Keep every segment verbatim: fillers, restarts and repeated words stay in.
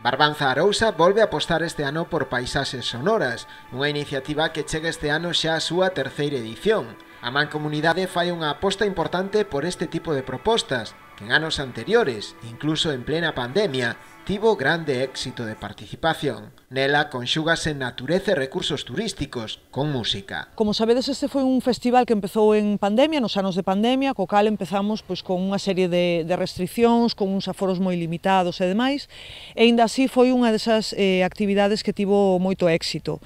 Barbanza Arousa volve a apostar este ano por paisaxes sonoras, unha iniciativa que chega este ano xa a súa terceira edición. A Mancomunidade fai unha aposta importante por este tipo de propostas, que en anos anteriores, incluso en plena pandemia, tivo grande éxito de participación. Nela conxúgase natureza e recursos turísticos con música. Como sabedes, este foi un festival que empezou en pandemia, nos anos de pandemia, co cal empezamos pois, con unha serie de, de restriccións, con uns aforos moi limitados e demais, e ainda así foi unha desas eh, actividades que tivo moito éxito.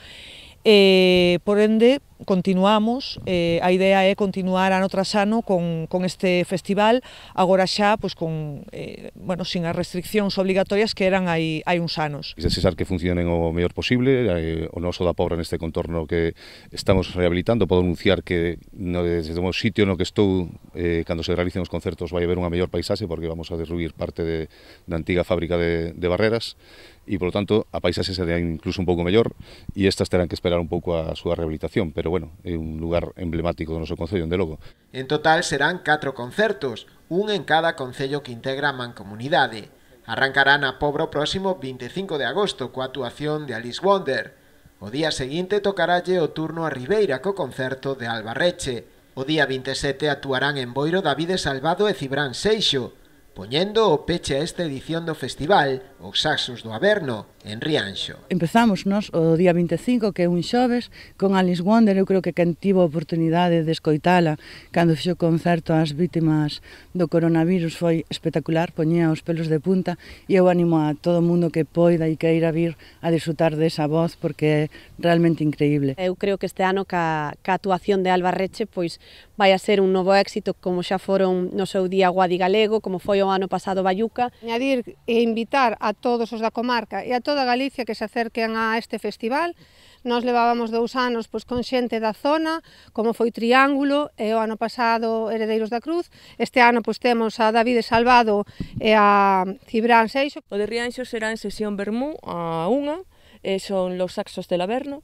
E, por ende, continuamos, eh, a idea é continuar ano tras ano con, con este festival, agora xa pois, con, eh, bueno, sin as restriccións obligatorias que eran hai, hai uns anos. Desexar que funcionen o mellor posible, eh, o noso da Pobra neste contorno que estamos rehabilitando, podo anunciar que no, desde o sitio no que estou, eh, cando se realicen os concertos vai haber unha mellor paisaxe porque vamos a derruir parte de, da antiga fábrica de, de barreras e, polo tanto, a paisaxe será incluso un pouco mellor e estas terán que esperar un pouco a súa rehabilitación, pero bueno, é un lugar emblemático do noso concello, de logo. En total serán catro concertos, un en cada concello que integra a Mancomunidade. Arrancarán a Pobra o próximo vinte e cinco de agosto coa actuación de Alice Wonder. O día seguinte tocaralle o turno a Ribeira co concerto de Albarreche. O día vinte e sete actuarán en Boiro Davide Salvado e Cibrán Seixo, poñendo o peche a esta edición do festival, os Saxos do Averno, en Rianxo. Empezamos nos o día vinte e cinco, que é un xoves, con Alice Wonder. Eu creo que quen tivo a oportunidade de escoitala cando fixo concerto ás vítimas do coronavirus foi espectacular, poñía os pelos de punta, e eu animo a todo o mundo que poida e queira vir a disfrutar desa voz porque é realmente increíble. Eu creo que este ano ca, ca actuación de Albarreche pois vai a ser un novo éxito, como xa foron no seu día Guadi Galego, como foi o ano pasado Bayuca. Añadir e invitar a todos os da comarca e a toda Galicia que se acerquen a este festival. Nós levábamos dous anos pois, con xente da zona, como foi Triángulo, e o ano pasado Heredeiros da Cruz. Este ano pois, temos a Davide Salvado e a Cibrán Seixo. O de Rianxo será en sesión vermú a unha, e son los Saxos del Averno.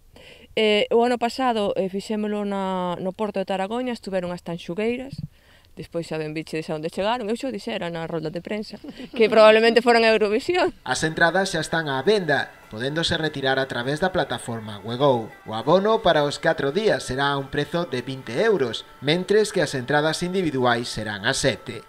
Eh, o ano pasado eh, fixémolo na, no Porto de Taragoña, estuveron as Tanxugueiras, despois xa ben bichedes a onde chegaron, eu xo dixera na rolda de prensa, que probablemente foran a Eurovisión. As entradas xa están á venda, podéndose retirar a través da plataforma Wego. O abono para os catro días será a un prezo de vinte euros, mentres que as entradas individuais serán a sete.